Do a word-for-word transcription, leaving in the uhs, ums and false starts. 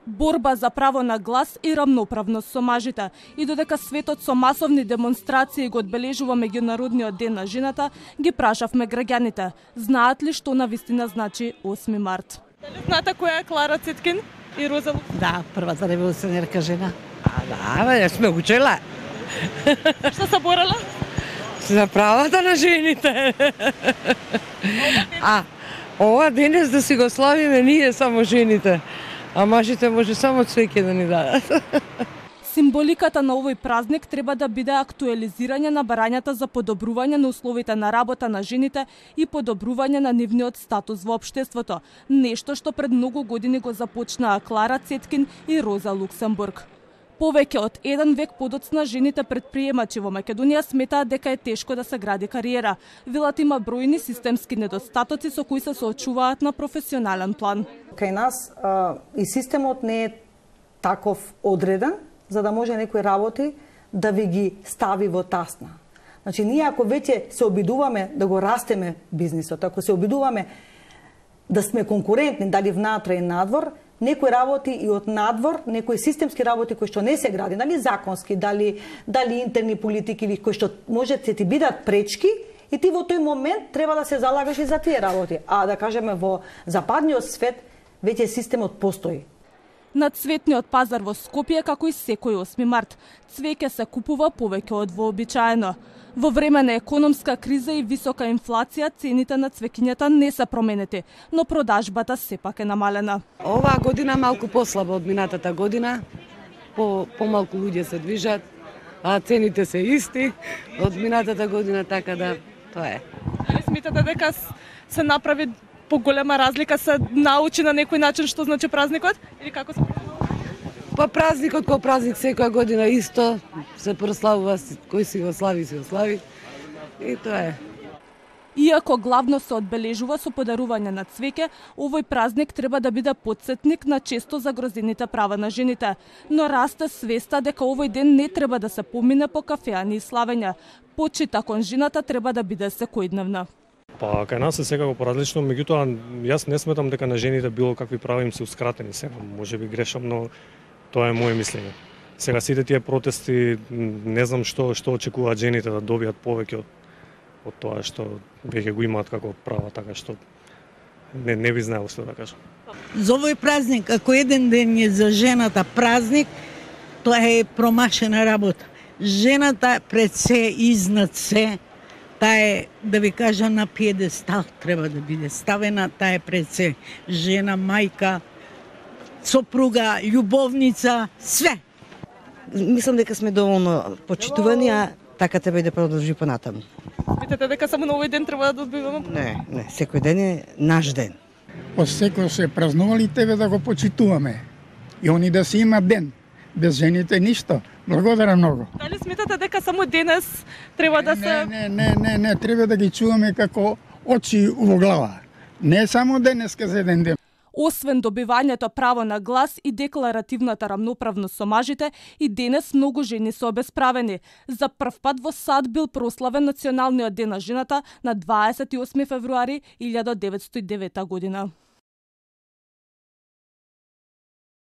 Борба за право на глас и рамноправност со мажите. И додека светот со масовни демонстрации го одбележува меѓународниот ден на жената, ги прашавме граѓаните, знаат ли што навистина значи осми март? Дали знаете која е Клара Цеткин и Роза Луксембург? Да, првата револуционерка жена. А, да, ја сме учела. Што се борела? За правата на жените. А, ова денес да си го славиме ние само жените. А мажите може само цвеќе да ни дадат. Символиката на овој празник треба да биде актуализирање на барањата за подобрување на условите на работа на жените и подобрување на нивниот статус во општеството. Нешто што пред многу години го започнаа Клара Цеткин и Роза Луксембург. Повеќе од еден век подоцна жените предприемачи во Македонија сметаат дека е тешко да се гради кариера. Велат има бројни системски недостатоци со кои се соочуваат на професионален план. Кај нас а, и системот не е таков одреден, за да може некои работи да ви ги стави во тасна. Значи, ние ако веќе се обидуваме да го растеме бизнисот, ако се обидуваме да сме конкурентни, дали внатре и надвор, некои работи и од надвор, некои системски работи кои што не се гради, дали законски, дали, дали интерни политики, или кои што може да ти бидат пречки, и ти во тој момент треба да се залагаш и за тие работи. А да кажеме во западниот свет, веќе системот постои. На цветниот пазар во Скопје, како и секој осми март, цвеќе се купува повеќе од вообичаено. Во време на економска криза и висока инфлација, цените на цвеќињата не се променети, но продажбата сепак е намалена. Оваа година малку послаба од минатата година, по помалку луѓе се движат, а цените се исти од минатата година, така да тоа е. Дали сметате дека се направи поголема разлика, се научи на некој начин што значи празникот или како се? Па празникот кој празник секоја година исто се прославува, кој си го слави, си го слави. И тоа е. Иако главно се одбележува со подарување на цвеќе, овој празник треба да биде потсетник на често загрозените права на жените. Но расте свеста дека овој ден не треба да се помине по кафеани и славења. Почита кон жената треба да биде секојдневна. Па кај нас е секако поразлично, меѓутоа јас не сметам дека на жените било какви права им се ускратени сега. Може би грешам, но тоа е моје мислење. Сега сите тие протести, не знам што што очекуваат жените да добијат повеќе од од тоа што веќе го имаат како права, така што не не би знаел што да кажам. За овој празник, ако еден ден е за жената празник, тоа е промашена работа. Жената пред се, изнад се, таа е, да ви кажа, на пиедестал треба да биде ставена, таа е пред се жена, мајка, сопруга, љубовница, све. Мислам дека сме доволно почитувани, а така треба и да продолжи понатаму. Мислите дека само на овој ден треба да добиваме? Не, не, секој ден е наш ден. По секој се празнували, тебе да го почитуваме. И они да си имат ден. Без жените ништо. Благодарам многу. Дали сметате дека само денес треба да се... Не, не, не, не, треба да ги чуваме како очи во глава. Не само денеска за еден ден. Освен добивањето право на глас и декларативната рамноправност со мажите, и денес многу жени се обесправени. За прв пат во САД бил прославен Националниот ден на жената на дваесет и осми февруари илјада деветстотини и девета година.